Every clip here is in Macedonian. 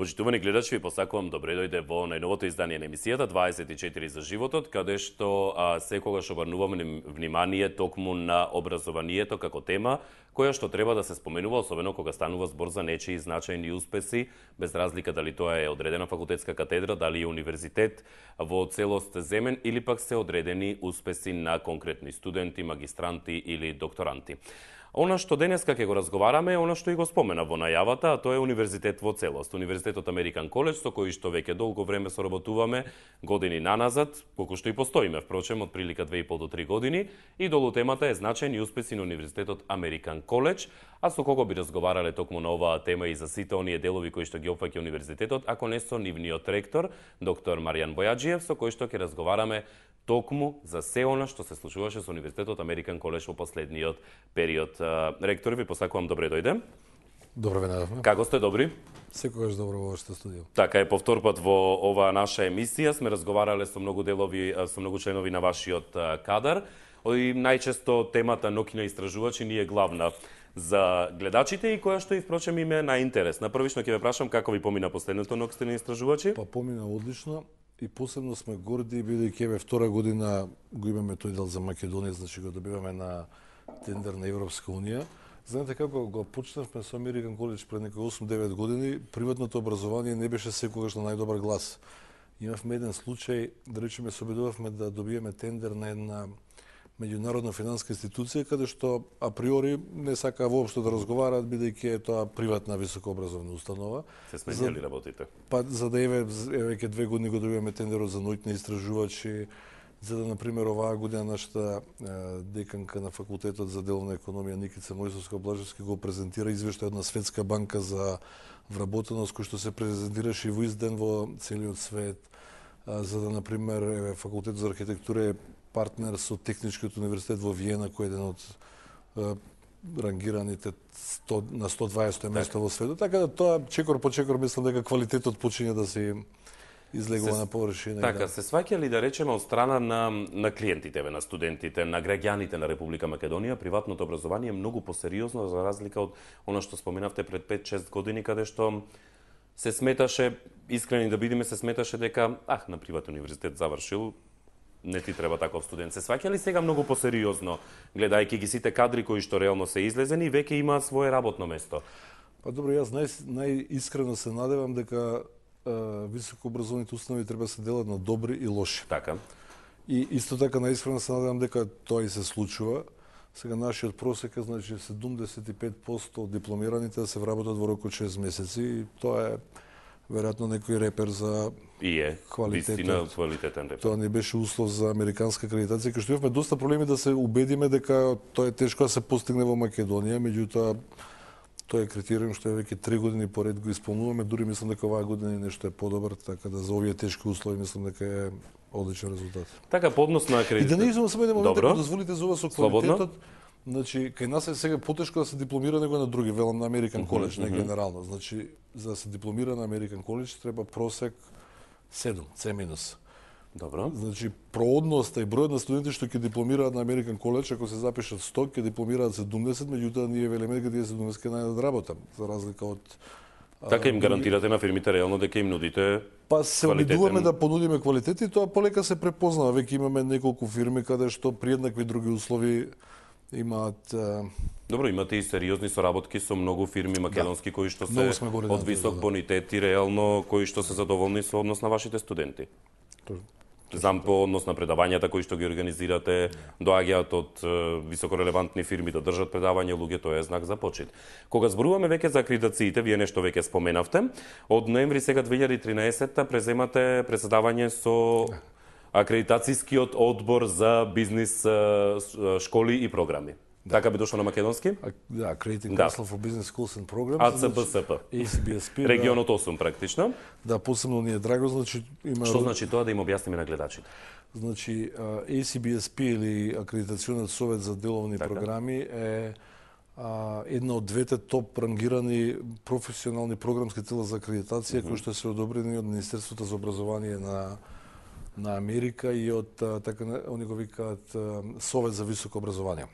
Почитувани гледачи, ви посакувам добре дојде во најновото издание на емисијата 24 за животот, каде што секогаш обрнуваме внимание токму на образованието како тема, која што треба да се споменува, особено кога станува збор за нечии значајни успеси, без разлика дали тоа е одредена факултетска катедра, дали е универзитет во целост земен или пак се одредени успеси на конкретни студенти, магистранти или докторанти. Она што денеска ќе го разговараме е она што и го спомена во најавата, а тоа е универзитет во целост. Универзитетот Американ Коледж, со кој што веќе долго време соработуваме, години наназад, колку што и постоиме, впрочем, од прилика 2,5 до 3 години, и долу темата е значајни успеси на Универзитетот Американ Коледж, а со кого би разговарале токму на оваа тема и за сите оние делови кои што ги опфаќа универзитетот, ако не со нивниот ректор, доктор Маријан Бојаджиев, со кој што ќе разговараме токму за се она што се случуваше со Универзитетот Американ Коледж во последниот период. Ректор, ви посакувам добре дојде. Добро ве најавме. Како сте, добри? Секогаш добро во вашето студио. Така е, повтор пат во оваа наша емисија сме разговарале со многу делови, со многу членови на вашиот кадар. И најчесто темата ноќни истражувачи ни е главна за гледачите и која што и впрочем им е најинтересна. Првично ќе ве прашам како ви помина последното ноќни истражувачи? Па помина одлично. И посебно сме горди, бидејќи еве втора година го имаме тој дел за Македонија, значи го добиваме на тендер на Европска унија. Знаете како го почнавме со Американ Коледж пред некои 8-9 години, приватното образование не беше секогаш на најдобар глас. Имавме еден случај, да речеме, се обидувавме да добиеме тендер на една меѓународна финанска институција, каде што априори не сака воопшто да разговараат, бидејќи е тоа приватна високообразовна установа. Се сменили работите? Па за да еве веќе 2 години го добиваме тендерот за ноќни истражувачи, за да, например, оваа година нашата деканка на факултетот за деловна економија Никица Мојсовска-Блажевски го презентира извештај на Светска банка за вработеност, кој што се презентираше и во изден во целиот свет, за да, например, еве факултетот за архитектура е партнер со Техничкиот универзитет во Виена, кој е еден од рангираните на 120 место во светот. Така да тоа чекор по чекор мислам дека квалитетот почиња да се излегува на површина. Така, се сваќа ли да речеме од страна на клиентите, на студентите, на граѓаните на Република Македонија, приватното образование е многу посериозно за разлика од она што споменавте пред 5-6 години, каде што се сметаше, искрени да бидеме, се сметаше дека на приватен универзитет завршил, не ти треба таков студент. Се сваќа ли сега многу посериозно, гледајќи ги сите кадри кои што реално се излезени и веќе имаат свое работно место? Па добро, јас најискрено се надевам дека високообразованите установи треба да се делат на добри и лоши. Така. И исто така најискрено се надевам дека тоа и се случува. Сега нашиот просек е, значи, 75% од дипломираните да се вработат во рок од 6 месеци и тоа е веројатно некој репер за вистина квалитетен репер. Тоа не беше услов за американска акредитација, кај што имавме доста проблеми да се убедиме дека тоа е тешко да се постигне во Македонија, меѓутоа тоа е критериум што веќе 3 години поред го исполнуваме, дури мислам дека оваа година нешто е подобар, така да за овие тешки услови мислам дека е одличен резултат. Така по однос на акредитација. И да не изумам само еден момент, ако дозволите за ова со квалитетот. Значи, кај нас е сега потешко да се дипломира него на други, велам на Американ Коледж, не генерално. Значи, за да се дипломира на Американ Коледж треба просек 7, C-. Добро. Значи, проодноста и бројот на студенти што ќе дипломираат на Американ Коледж, ако се запишат 100, ќе дипломираат 70, меѓутоа ние велиме дека тие 70 ќе најдат работа, за разлика од така им гарантирате на фирмите реално дека им нудите па се обидуваме да понудиме квалитет и тоа полека се препознава. Веќе имаме неколку фирми каде што при еднакви други услови имаат Добро, имате и сериозни соработки со многу фирми македонски кои што се од висок бонитет и реално кои што се задоволни со однос на вашите студенти. Знам по однос на предавањата кои што ги организирате, доаѓаат од високорелевантни фирми да држат предавања, луѓе, тоа е знак за почит. Кога зборуваме веќе за акредитациите, вие нешто веќе споменавте, од ноември сега 2013 преземате председавање со акредитацијскиот одбор за бизнис школи и програми. Така би дошло на македонски? Да, Accrediting Council for Business Schools and Programs. АЦБСП. ACBSP. Регионот 8 практично. Да, посебно ни е драго, значи има Што значи тоа да им објасниме на гледачите? Значи ACBSP или Акредитациониот совет за деловни програми е една од двете топ рангирани професионални програмски тела за акредитација кои што се одобрени од Министерството за образование на Америка и од така они го викаат Совет за високо образование.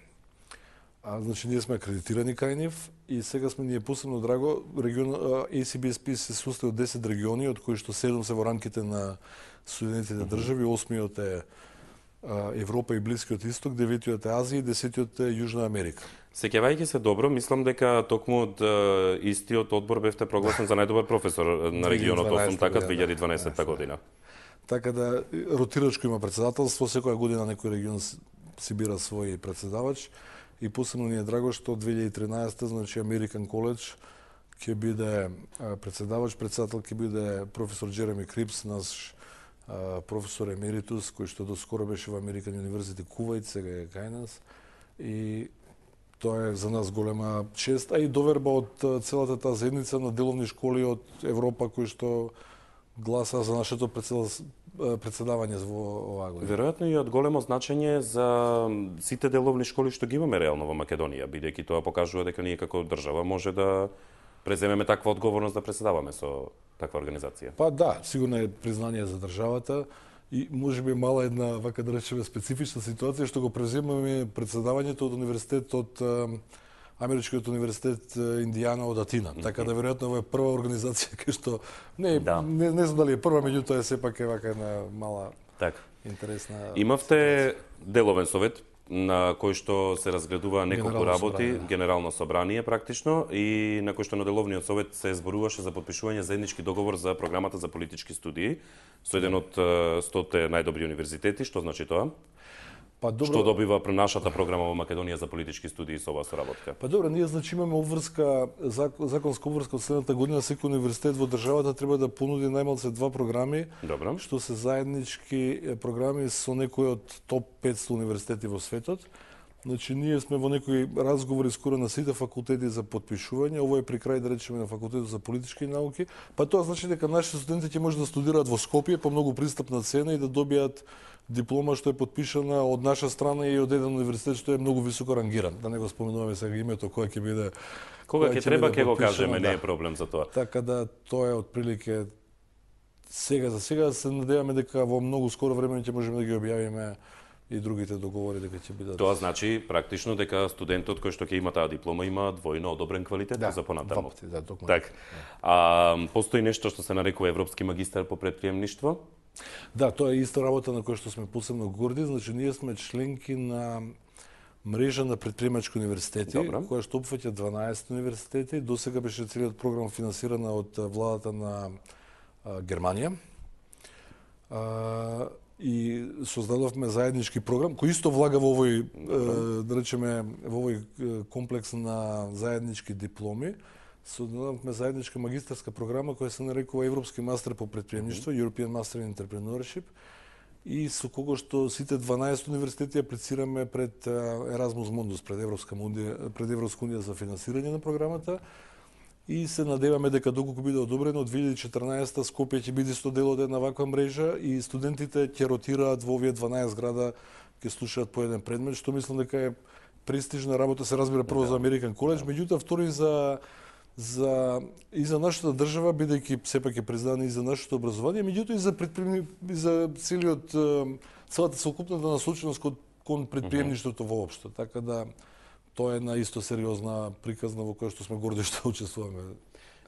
Значи ние сме акредитирани кај нив и сега сме ние посебно драго ACBSP се состои од 10 региони, од кои што 7 се во рамките на Соединетите држави, 8-иот е Европа и Блискиот Исток, 9-иот е Азија и 10-иот е Јужна Америка. Сеќавајќи се добро, мислам дека токму од истиот одбор бевте прогласен за најдобар професор на регионот 8, така 2012 година. Така да ротирачко има претседателство, секоја година некој регион си бира свој претседавач и посебно ни е драго што 2013 значи American College ќе биде председател ќе биде професор Джереми Крипс, наш професор емеритус, кој што доскоро беше во American University Кувајт, сега е кај нас. И тоа е за нас голема чест, а и доверба од целата таа заедница на деловни школи од Европа кои што гласа за нашето председавање во оваа година. Веројатно и од големо значење за сите деловни школи што ги имаме реално во Македонија, бидејќи тоа покажува дека ние како држава може да преземеме таква одговорност да председаваме со таква организација. Па да, сигурно е признание за државата и можеби мала една, вака да речеме, специфична ситуација што го преземаме председавањето од универзитетот Америчкиот универзитет Индијана од Атина. Така да веројатно ова е прва организација кај што не знам дали е прва, меѓутоа сепак е вака една мала интересна. Имавте деловен совет на кој што се разгледува неколку работи, генерално собрание практично, и на кој што на деловниот совет се зборуваше за подпишување заеднички договор за програмата за политички студии со еден од 100 најдобри универзитети. Што значи тоа? Па добро. Што добива нашата програма во Македонија за политички студии со оваа соработка? Па добро, ние значи имаме обврска, законска обврска од следната година, секој универзитет во државата треба да понуди најмалку 2 програми, добро, што се заеднички програми со некои од топ 500 универзитети во светот. Значи ние сме во некои разговори скоро на сите факултети за подпишување, ово е при крај да речеме на факултетот за политички науки, па тоа значи дека нашите студенти ќе може да студираат во Скопје по многу пристапна цена и да добијат диплома што е подпишана од наша страна и од еден универзитет што е многу високо рангиран. Да не го споменуваме сега името кој ќе биде. Кога ќе треба ќе го кажеме, не е проблем за тоа. Така да тоа е отприлике сега за сега се надеваме дека во многу скоро време ќе можеме да ги објавиме и другите договори дека ќе бидат. Тоа значи практично дека студентот кој што ќе има таа диплома има двојно одобрен квалитет за понатаму. Да, токму. Так. Постои нешто што се нарекува европски магистар по претприемништво? Да, тоа е иста работа на која што сме посебно горди, значи ние сме членки на мрежа на претприемачки универзитети, која што опфаќа 12 универзитети. Досега беше целиот програм финансирана од владата на Германија. И создадовме заеднички програм кој исто влага во овој да речеме во овој комплекс на заеднички дипломи. Создадовме заедничка магистарска програма која се нарекува Европски мастер по претприемништво, European Master in Entrepreneurship, и со кого што сите 12 универзитети аплицираме пред Erasmus Mundus, пред Европска унија за финансирање на програмата. И се надеваме дека доколку биде одобрено од 2014 Скопје ќе биде исто дел од една ваква мрежа и студентите ќе ротираат во овие 12 града, ќе слушаат по еден предмет, што мислам дека е престижна работа, се разбира прво за American College, меѓутоа втори и за нашата држава, бидејќи сепак е признано и за нашето образование, меѓутоа и за целата целокупната насоченост кон претприемништвото воопшто. Така да тоа е една исто сериозна приказна во која што сме горди што учествуваме.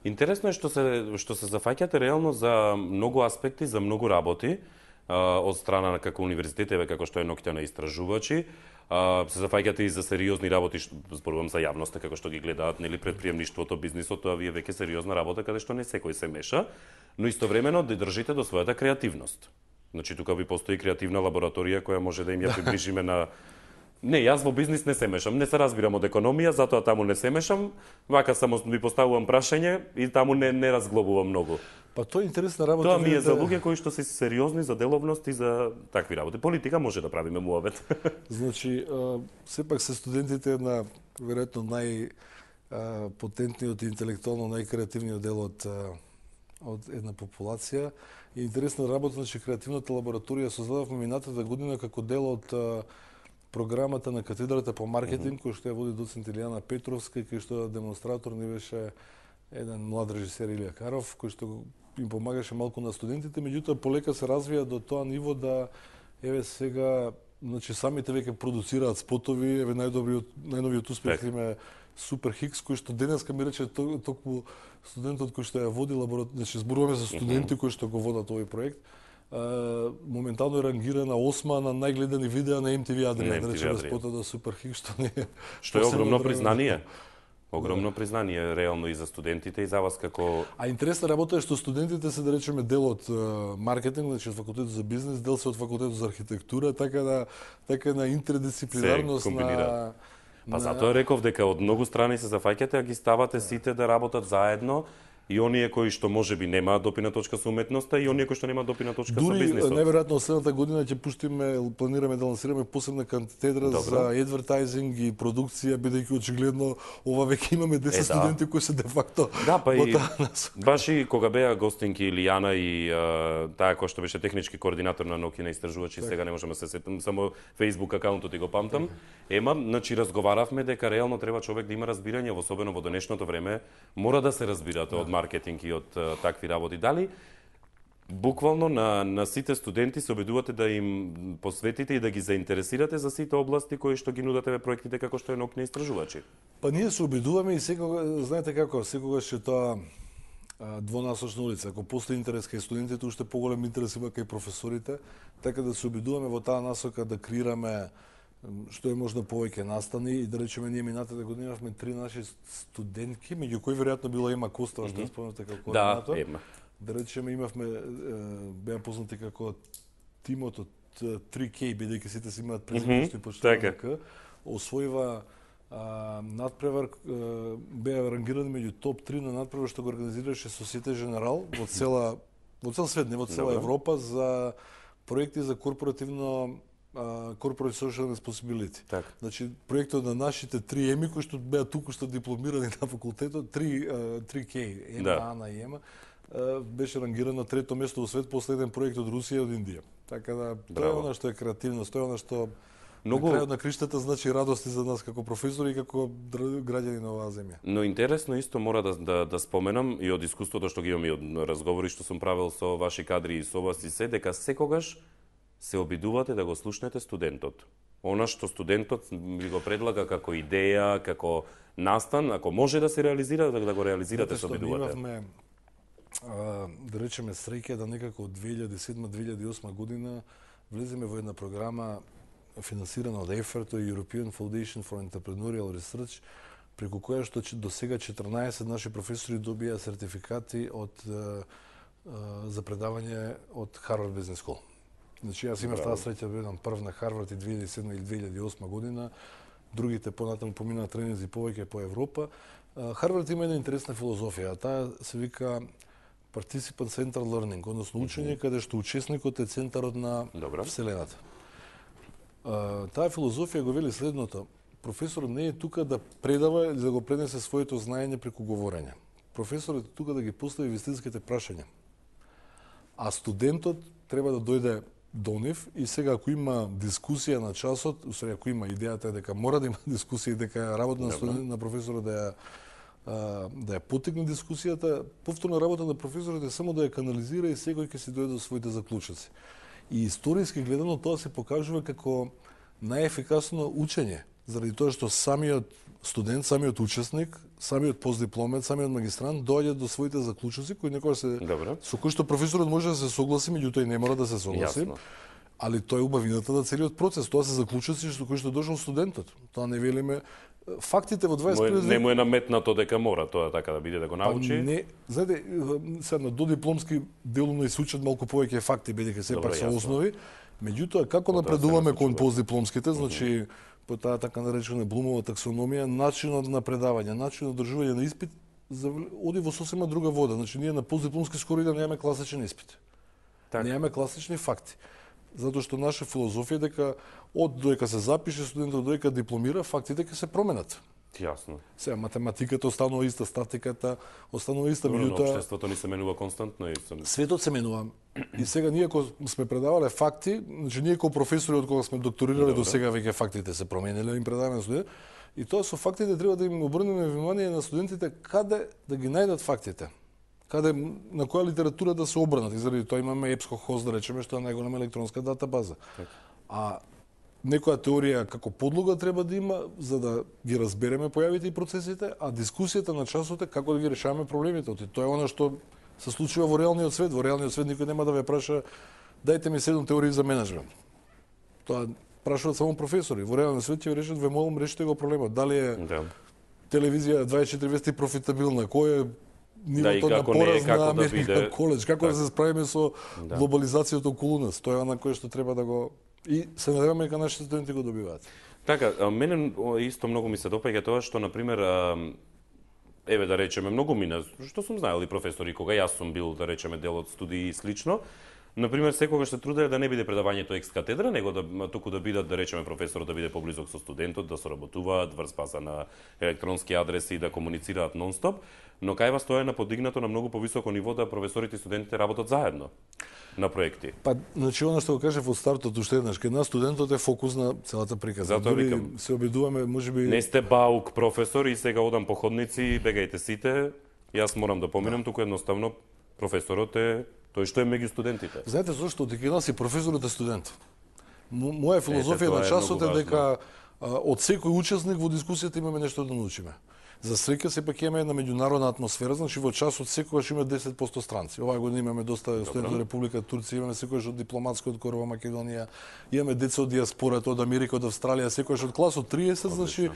Интересно е што се зафаќате реално за многу аспекти, за многу работи од страна на како универзитетеве, како што е ноќта на истражувачи. Се зафаќате и за сериозни работи, зборувам за јавноста, како што ги гледаат, нели, претприемништвото, бизнисот, тоа вие веќе сериозна работа каде што не секој се меша, но истовремено да држите до својата креативност. Значи тука ви постои креативна лабораторија која може да им ја приближиме на. Не, јас во бизнис не се мешам, не се разбирам од економија, затоа таму не се мешам, вака само ви поставувам прашање и таму не разглобувам многу. Па тоа е интересна работа. Тоа ми е за луѓе кои што се сериозни за деловност и за такви работи. Политика може да правиме муабет. Значи, сепак се студентите на веројатно најпотентниот и интелектуално најкреативниот дел од една популација. И интересна работа, значи креативната лабораторија создадовме минатата година како дел од програмата на катедрата по маркетинг, кој што ја води доцент Илијана Петровска, кој што демонстратор ни беше еден млад режисер Илија Каров, кој што им помагаше малку на студентите, меѓутоа полека се развија до тоа ниво да еве сега значи самите веќе продуцираат спотови, еве најновиот успех им е Супер Хикс, кој што денеска ми рече токму студентот кој што ја води значи зборуваме за студенти кои што го водат овој проект. Моментално е рангирана 8 на најгледани видеа на MTV Адриа, да речеме спотот на Супер Хикс, што е огромно признание. Огромно признание реално и за студентите и за вас како... А интересна работа е што студентите се, да речеме, дел од маркетинг, значи од факултетот за бизнес, дел се од факултетот за архитектура, така на интердисциплинарност на... Па затоа реков дека од многу страни се зафаќате, а ги ставате сите да работат заедно, и оние кои што можеби немаат допирна точка со уметноста и оние кои што немаат допирна точка со бизнисот. Дури најверојатно следната година ќе планираме да лансираме посебна катедра за адвертајзинг и продукција, бидејќи очигледно ова веќе имаме 10 студенти кои се де факто. Да, па и баш и кога беа гостинки Илијана и таа која што беше технички координатор на наукина истражувачи, сега не можам да се сетам, само Facebook акаунтот и го памтам. Значи разговаравме дека реално треба човек да има разбирање, особено во денешното време, мора да се разбирате од маркетинг и од такви работи. Дали буквално на сите студенти се обидувате да им посветите и да ги заинтересирате за сите области кои што ги нудате проектите како што е наукни истражувачи? Па ние се обидуваме и секогаш, знаете како, секогаш е тоа двонасочна улица. Ако постои интерес кај студентите, уште поголем интерес има кај професорите, така да се обидуваме во таа насока да креираме што е можно повеќе настани и да речеме ние минатата година имавме 3 наши студентки, меѓу кои веројатно била Ема Костова, што спомнавте како координатор. Да, Ема. Да речеме имавме беа познати како тимот од 3K, бидејќи сите си имаат презиме што и почнуваат К. Освоива надпревар, беа рангирани меѓу топ 3 на надпревар што го организираше Societe Generale во цел свет, не во цела Европа, за проекти за корпоративно Corporate Social Responsibility. Значи, проектот на нашите 3 еми, кои што беа туку што дипломирани на факултетот, 3K, Ема, Ана и Ема, беше рангиран на 3-то место во свет после еден проект од Русија и од Индија. Така да, тоа е она што е креативност, тоа е она што на крајот на криштата значи радости за нас како професори и како граѓани на оваа земја. Но интересно исто мора да споменам и од искуството што ги имам и од разговори што сум правил со ваши кадри и со вас и се, дека секогаш се обидувате да го слушнете студентот. Она што студентот ви го предлага како идеја, како настан, ако може да се реализира, да го реализирате, се обидувате. Имавме, да речеме, среќа да некако од 2007-2008 година влеземе во една програма финансирана од EFERT, European Foundation for Entrepreneurial Research, преку која што до сега 14 наши професори добија сертификати за предавање од Harvard Business School. Значи, јас имав таа среќа да бидам прв на Харвард и 2007 или 2008 година, другите понатаму поминаа тренинзи повеќе по Европа. Харвард има една интересна филозофија, таа се вика Participant Centered Learning, односно учење каде што учесникот е центарот на Вселената. Таа филозофија го вели следното: професорот не е тука да предава или да го пренесе своето знаење преку говорење. Професорот е тука да ги постави вистинските прашања. А студентот треба да дојде до нив и сега ако има дискусија на часот, усвари ако има идејата е дека мора да има дискусија и дека работа на студент на професорот да ја потегне дискусијата, повторна работа на професорот е само да ја канализира и секој ќе си дојде до своите заклучоци. И историски гледано тоа се покажува како најефикасно учење, заради тоа што самиот студент, самиот учесник, самиот постдипломец, самиот магистрант доаѓа до своите заклучоци кои некогаш со кои што професорот може да се согласи, меѓутоа и не мора да се согласи. Али тоа е убавината на целиот процес, тоа се заклучоци со кои што дошол студентот. Тоа не велиме фактите во 21 век. Не му е наметнато дека мора тоа така да биде да го научи. Не, знаете, сега на додипломски делумно и се учат малку повеќе факти бидејќи сепак се основи. Меѓутоа како напредуваме кон постдипломските, значи по таа така наречена Блумова таксономија, начинот на предавање, начинот на одржување на испит оди во сосема друга вода. Значи ние на постдипломски скоро и да немаме класичен испит. Немаме класични факти. Затоа што наша филозофија е дека од додека се запише студентот додека дипломира, фактите ќе се променат. Јасно. Сега математиката останува иста, статиката останува иста, меѓутоа општеството ни се менува константно и светот се менува. И сега ние кога сме предавале факти, значи ние како професори од кога сме докторирале до сега веќе фактите се промениле, им предаваме на студенти. И тоа со фактите треба да им обрнеме внимание на студентите каде да ги најдат фактите. Каде на која литература да се обрнат. И заради тоа имаме EBSCO Host, да речеме, што е најголема електронска датабаза. А некоја теорија како подлога треба да има за да ги разбереме појавите и процесите, а дискусијата на часот е како да ги решаваме проблемите. Тоа е она што се случува во реалниот свет. Во реалниот свет никој нема да ве праша дајте ми 7 теории за менеджмент. Тоа прашуваат само професори. Во реалниот свет ќе ви решат, ве молам, решите го проблемот. Дали е телевизија 24 вести профитабилна, кој е нивото на пораз на Американ коледж, како да се справиме со глобализацијата околу нас. Тоа е она кое што треба да го и се надеваме дека нашите студенти го добиваат. Така, мене исто многу ми се допаѓа тоа што, например, еве да речеме, многу мина, што сум знаел и професори, кога јас сум бил, да речеме, дел од студии и слично, например, секогаш се труделе да не биде предавањето екс катедра, него туку да бидат, да речеме, професорот да биде поблизок со студентот, да соработуваат врз база на електронски адреси и да комуницираат нон-стоп, но кај вас тоа е на подигнато на многу повисоко ниво да професорите и студентите работат заедно на проекти. Па, значи, оно што го кажев од стартот, уште еднаш, кај нас студентот е фокус на целата приказна. Затоа викам, се обидуваме, можеби... Не сте баук професор и сега одам по ходници, бегајте сите, јас морам да поминам, туку едноставно професорот е тој што е меѓу студентите. Знаете зошто? Кај нас и професорот е студент. Моја филозофија на часот е дека од секој учесник во дискусијата имаме нешто да научиме. За среќа сепак имаме една меѓународна атмосфера, значи во часот секогаш има 10% странци. Оваа година имаме доста студенти од Република Турција, имаме секогаш од дипломатскиот корп во Македонија, имаме деца од диаспората, од Америка, од Австралија, секогаш од клас од 30, значи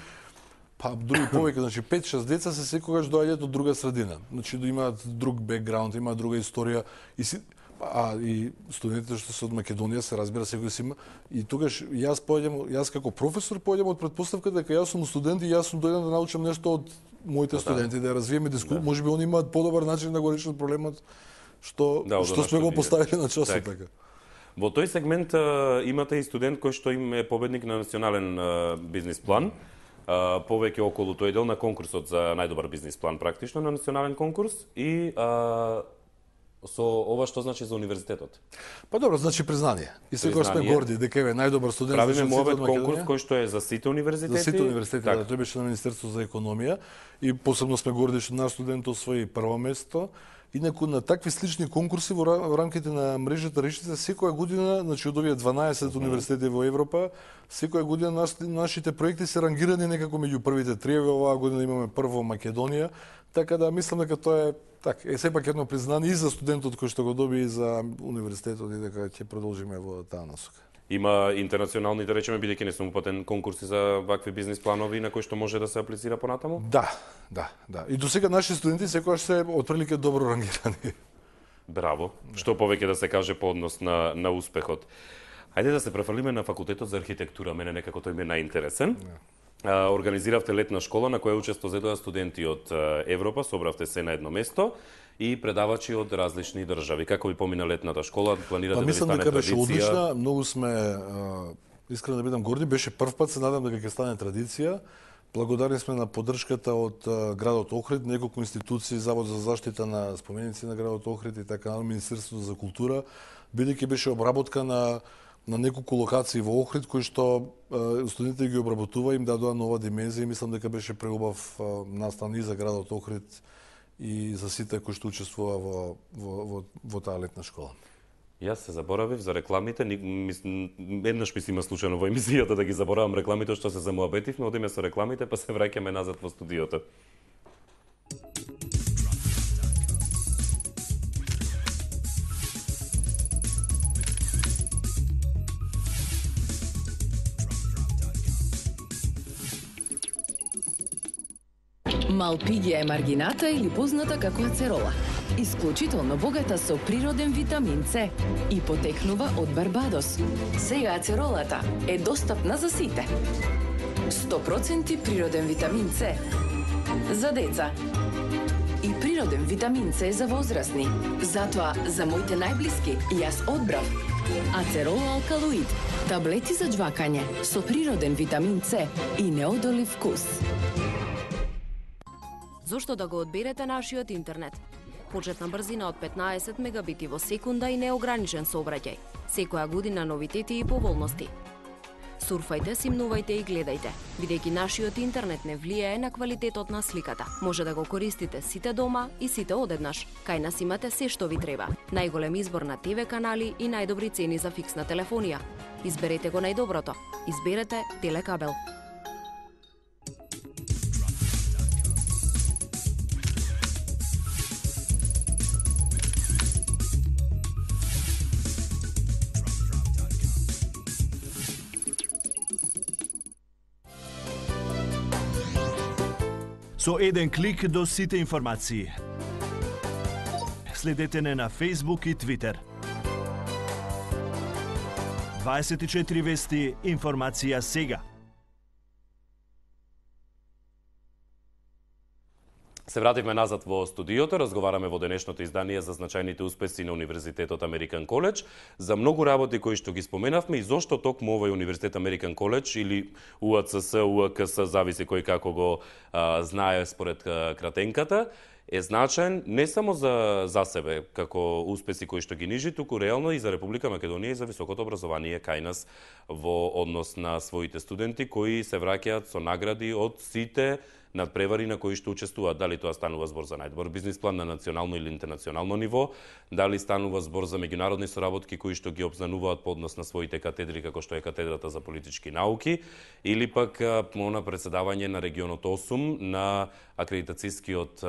па други повеќе, значи 5-6 деца се секогаш доаѓаат од друга средина. Значи да имаат друг бекграунд, имаат друга историја и студентите што се од Македонија се разбира секој си има и тогаш јас како професор појдем од претпоставка дека јас сум студент и јас сум дојден да научам нешто од моите студенти, да развиеме дискусија. Можеби они имаат подобар начин да го решат проблемот што сме го поставили на часот така. Во тој сегмент имате и студент кој што им е победник на национален бизнис план. Повеќе околу тој дел на конкурсот за најдобар бизнис план практично на национален конкурс и со ова што значи за универзитетот? Па добро, значи признание. И секогаш сме горди дека е најдобар студент. Правиме мовет конкурс кој што е за сите универзитети. За сите универзитети, да, тој беше на Министерството за економија и посебно сме горди што наш студент освои прво место. Инаку на такви слични конкурси во рамките на мрежата Решите секоја година, значи од овие 12 универзитети во Европа, секоја година нашите проекти се рангирани некако меѓу првите 3. Оваа година имаме прво Македонија, така да мислам дека тоа е така, е сепак едно признание и за студентот кој што го доби и за универзитетот и дека ќе продолжиме во таа насока. Има интернационални, да речеме, бидејќи не сум упатен, конкурси за вакви бизнис планови на кои што може да се аплицира понатаму? Да. И до сега наши студенти секогаш се отприлика добро рангирани. Браво. Што повеќе да се каже по однос на успехот. Хајде да се префрлиме на факултетот за архитектура, мене некако тој ми е најинтересен. Организиравте летна школа на која учество зедоа студенти од Европа, собравте се на едно место и предавачи од различни држави. Како ви помина летната школа? Планирате да ви стане традиција? Мислам дека беше одлична, многу сме искрено да бидам горди, беше прв пат, се надам дека ќе стане традиција. Благодарни сме на поддршката од градот Охрид, неколку институции, Завод за заштита на споменици на градот Охрид и така на Министерството за култура, бидејќи беше обработка на неколку локации во Охрид кои што студентите ги обработува, им дадоа нова димензија и мислам дека беше преубав настан и за градот Охрид и за сите кои што учествува во таа летна школа. Јас се заборавив за рекламите, еднаш ми се има случајно во емисијата да ги заборавам рекламите што се замуабетивме, одиме со рекламите па се враќаме назад во студиото. Малпигија е маргината или позната како ацерола. Исклучително богата со природен витамин С и потекнува од Барбадос. Сега ацеролата е достапна за сите. 100% природен витамин С за деца и природен витамин С за возрастни. Затоа за моите најблиски јас одбрав Ацерола алкалоид, таблети за џвакање со природен витамин С и неодолив вкус. Зошто да го одберете нашиот интернет? Почетна брзина од 15 мегабити во секунда и неограничен сообраќај. Секоја година новитети и поволности. Сурфајте, симнувајте и гледајте, бидејќи нашиот интернет не влијае на квалитетот на сликата. Може да го користите сите дома и сите одеднаш. Кај нас имате се што ви треба. Најголем избор на ТВ канали и најдобри цени за фиксна телефонија. Изберете го најдоброто. Изберете Телекабел. Со еден клик до сите информации. Следете не на Facebook и Twitter. 24 вести, информација сега. Се вративме назад во студиото, разговараме во денешното издание за значајните успеси на Универзитетот Американ Коледж, за многу работи кои што ги споменавме и зошто токму овој Универзитет Американ Коледж или УАЦС, УАКС, зависи кој како го знае според кратенката, е значаен не само за себе како успеси кои што ги нижи, туку реално и за Република Македонија и за високото образование кај нас во однос на своите студенти кои се враќаат со награди од сите надпревари на кои што учествуваат, дали тоа станува збор за најдобар бизнис план на национално или интернационално ниво, дали станува збор за меѓународни соработки кои што ги обзнануваат по однос на своите катедри, како што е катедрата за политички науки, или пак на председавање на регионот 8 на акредитацијскиот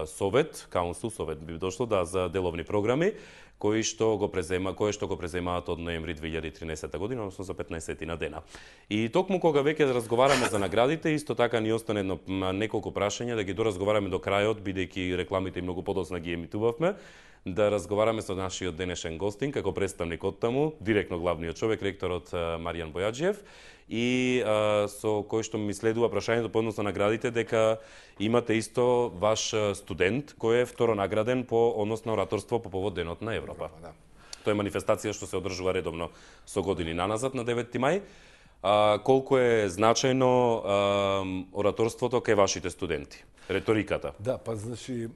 совет, Council совет би дошло за деловни програми, кои што го преземаат од ноември 2013 година, односно за 15 на дена. И токму кога веќе разговараме за наградите, исто така ни остане неколку прашања да ги доразговараме до крајот, бидејќи рекламите и многу подоцна ги емитувавме, да разговараме со нашиот денешен гостин, како представник од таму, директно главниот човек, ректорот Маријан Бојаджиев, и со кој што ми следува прашањето по однос на наградите, дека имате исто ваш студент кој е второ награден по однос на ораторство по повод Денот на Европа. Да. Тоа е манифестација што се одржува редовно со години наназад на 9 мај. Колку е значајно ораторството кај вашите студенти? Реториката. Да, па значи,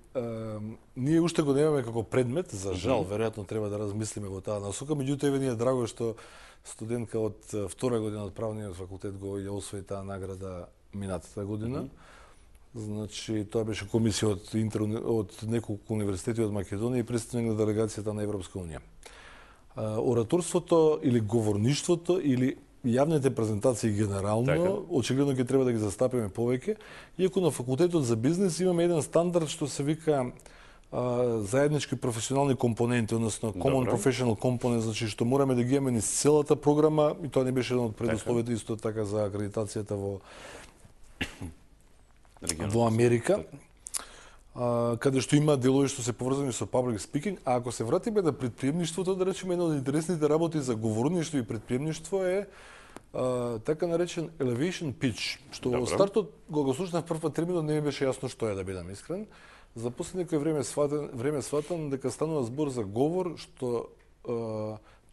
ние уште го немаме како предмет, за жал, веројатно треба да размислиме во таа насока, меѓутоа еве ни е драго што студентка од втора година од правниот факултет го ја освои таа награда минатата година. Значи, тоа беше комисија од неколку универзитети од Македонија и представник на делегацијата на Европска унија. Ораторството или говорништвото или јавните презентации генерално, очигледно ќе треба да ги застапиме повеќе, иако на факултетот за бизнес имаме еден стандард што се вика заеднички професионални компоненти, односно Common Professional Component, значи што мораме да ги имаме низ целата програма, и тоа не беше еден од предусловите исто така за акредитацијата во Америка, каде што има делови што се поврзани со public speaking, а ако се вратиме на предприемништвото, да речеме, една од интересните работи за говорништво и предприемништво е така наречен elevation pitch, што во стартот кога го слушнав прв пат терминот не ми беше јасно што е, да бидам искрен. За после некој време сватам дека станува збор за говор што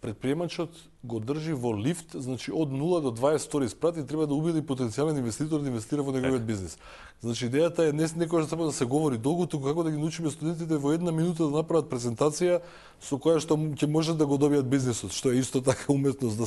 предприемачот го држи во лифт, значи од 0 до 20 стори спрат и треба да убеди потенцијален инвеститор да инвестира во неговиот бизнис. Значи идејата е не некогаш само да се говори долго, туку како да ги научиме студентите во една минута да направат презентација со која што ќе можат да го добијат бизнисот, што е исто така уметност да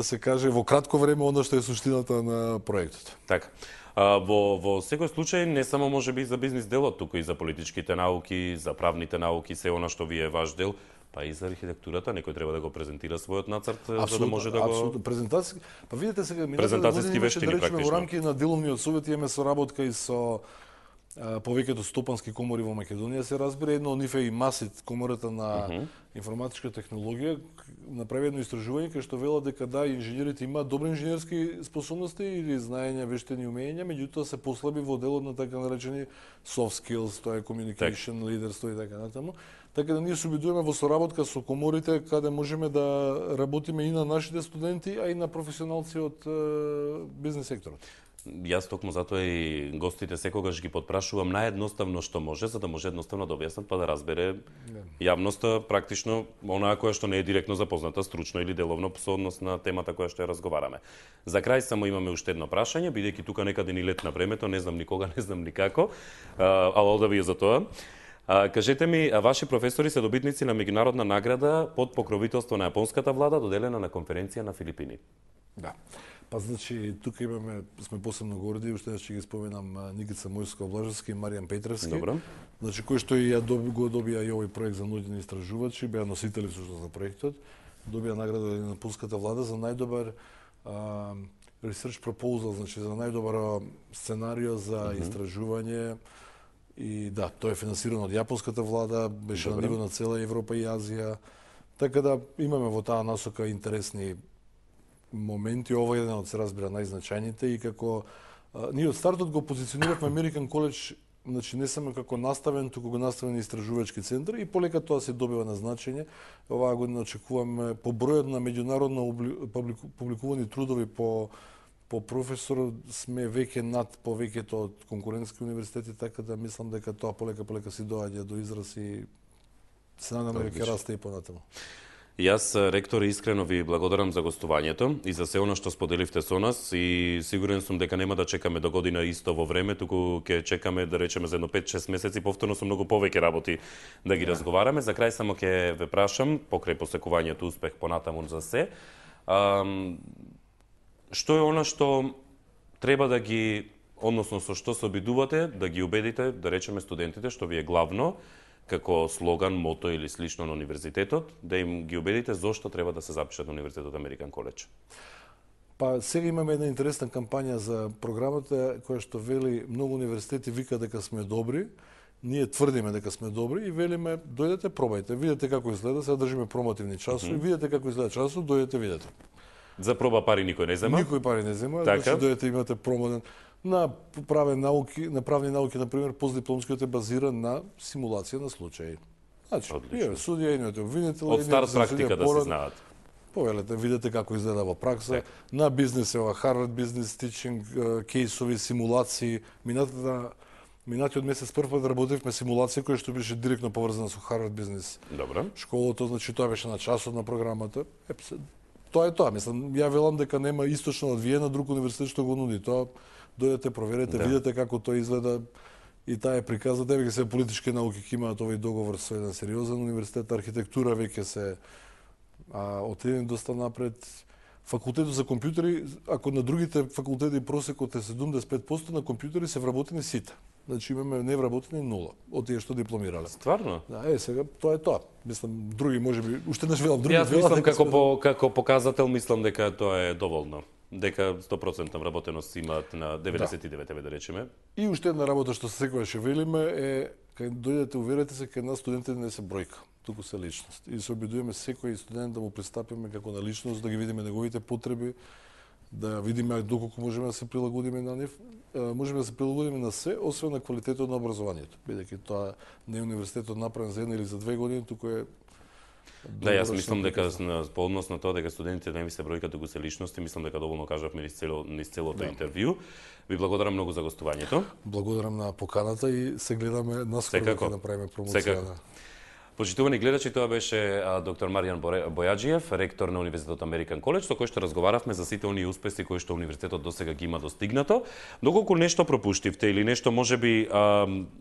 се каже во кратко време она што е суштината на проектот. Така. Во секој случај не само можеби за бизнис делот, туку и за политичките науки, за правните науки, се она што ви е ваш дел, па и за архитектурата, некој треба да го презентира својот нацрт за да може да го Апсолутно, презентација. Па видите сега презентацијски вештини практично. Во рамки на деловниот совет имаме соработка и со повеќето стопански комори во Македонија, се разбира, едно од нив е и МАСИТ, комората на информатичка технологија, направи едно истражување кај што вела дека да, инженерите имаат добри инженерски способности или знаења, вештини, умења, меѓутоа се послаби во делот на така наречени soft skills, тоа е communication, лидерство и така натаму. Така да ние се обидуваме во соработка со коморите каде можеме да работиме и на нашите студенти, а и на професионалци од бизнес секторот. Јас токму затоа и гостите секогаш ги потпрашувам наједноставно што може, за да може едноставно да објаснат па да разбере јавноста практично онаа која што не е директно запозната стручно или деловно со однос на темата која што ја разговараме. За крај само имаме уште едно прашање, бидејќи тука некаде ни летна времето, не знам никога, не знам никако, ало да ви за тоа. Кажете ми, ваши професори се добитници на меѓународна награда под покровителство на јапонската влада, доделена на конференција на Филипини. Да. Па значи тука сме посебно горди, уште ќе ги споменам Никица Мојско-Блажевски и Маријан Петревски. Добро. Значи кои што и го добија и овој проект за научни истражувачи, беа носители всушност на проектот, добија награда на пулската влада за најдобар research proposal, значи за најдобар сценарио за истражување. И да, тоа е финансирано од јапонската влада, беше на ниво на цела Европа и Азија. Така да имаме во таа насока интересни моменти. Ова е еден од, се разбира, најзначајните и како ние од стартот го позициониравме American College, значи не само како наставен, туку го наставен истражувачки центар и полека тоа се добива на значење. Оваа година очекуваме по бројот на меѓународно публикувани трудови по професор сме веќе над повеќето од конкурентски универзитети, така да мислам дека тоа полека си доаѓа до израз и се надам дека ќе расте и понатаму. Јас, ректор, искрено ви благодарам за гостувањето и за се оно што споделивте со нас и сигурен сум дека нема да чекаме до година исто во време, туку ќе чекаме да речеме за едно 5-6 месеци повторно со многу повеќе работи да ги разговараме. За крај само ќе ве прашам, покрај посекувањето успех понатаму за се, што е она што треба да ги, односно со што се обидувате да ги убедите, да речеме студентите, што ви е главно, како слоган, мото или слично на универзитетот, да им ги убедите зошто треба да се запишат на Универзитетот American College? Па сега имаме една интересна кампања за програмата која што вели многу универзитети вика дека сме добри, ние тврдиме дека сме добри и велиме дојдете, пробајте, видете како изгледа, сега држиме промотивни часови, видете како изгледа часов, дојдете, видете. За проба пари никој не зема? Никој пари не зема, така? Значи дојдете имате промотен. На правни науки, например, постдипломскиот е базиран на симулација на случаи. Значи, имаме судија, имате обвинител, од старт практика да се знаат. Повелете, видете како изгледа во пракса. На бизнес е ова Harvard Business Teaching, кейсови, симулации. Минатиот месец прв пат работевме симулација која што беше директно поврзана со Harvard Business. Добро. Школото, значи тоа беше на часот на програмата. Тоа е тоа, мислам, ја велам дека нема источно од Виена друг универзитет што го нуди тоа. Дојдете, проверете, видете како тоа изгледа и таа е приказна. Веќе се политички науки ќе имаат овој договор со еден сериозен универзитет, архитектура веќе се отидени доста напред. Факултетот за компјутери, ако на другите факултети просекот е 75%, на компјутери се вработени сите. Значи имаме невработени 0 од тие што дипломирале. Стварно? Да, сега тоа е тоа. Мислам други можеби уште не велам други. Јас мислам како показател мислам дека тоа е доволно. Дека 100% вработеност имаат на 99 да речеме. И уште една работа што секогаш велиме е кај дојдете, уверете се кај нас студентите не се бројка, туку се личност. И се обидуваме секој студент да му пристапиме како на личност, да ги видиме неговите потреби, да видиме доколку можеме да се прилагодиме на нив. Можеме да се прилагодиме на се, освен на квалитетот на образованието. Бидејќи тоа не е универзитетот направен за една или за 2 години, туку е. Да, јас мислам дека по однос на тоа дека студентите не ми се бројка туку се личности, мислам дека доволно кажавме низ целото интервју. Ви благодарам многу за гостувањето. Благодарам на поканата и се гледаме наскоро да направиме промоција. Почитувани гледачи, тоа беше доктор Маријан Бојаджиев, ректор на Универзитетот American College, со кој што разговаравме за сите оние успеси кои што универзитетот досега ги има достигнато. Доколку нешто пропуштивте или нешто можеби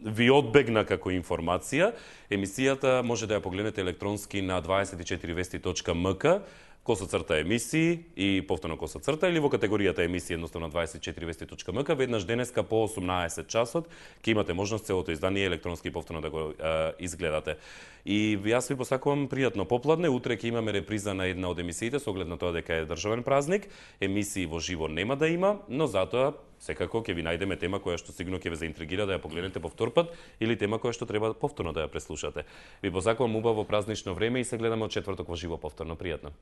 ви одбегна како информација, емисијата може да ја погледнете електронски на 24vesti.mk, / емисии и повторно / или во категоријата емисии едноставно 24vesti.mk. Веднаш денеска по 18 часот ќе имате можност целото издание електронски повторно да го изгледате. И јас ви посакувам пријатно попладне. Утре ќе имаме реприза на една од емисиите со оглед на тоа дека е државен празник. Емисии во живо нема да има, но затоа секако ќе ви најдеме тема која што сигурно ќе ве заинтригира да ја погледнете повтор пат или тема која што треба повторно да ја преслушате. Ви посакувам убаво празнично време и се гледаме од четврток во живо повторно. Пријатно.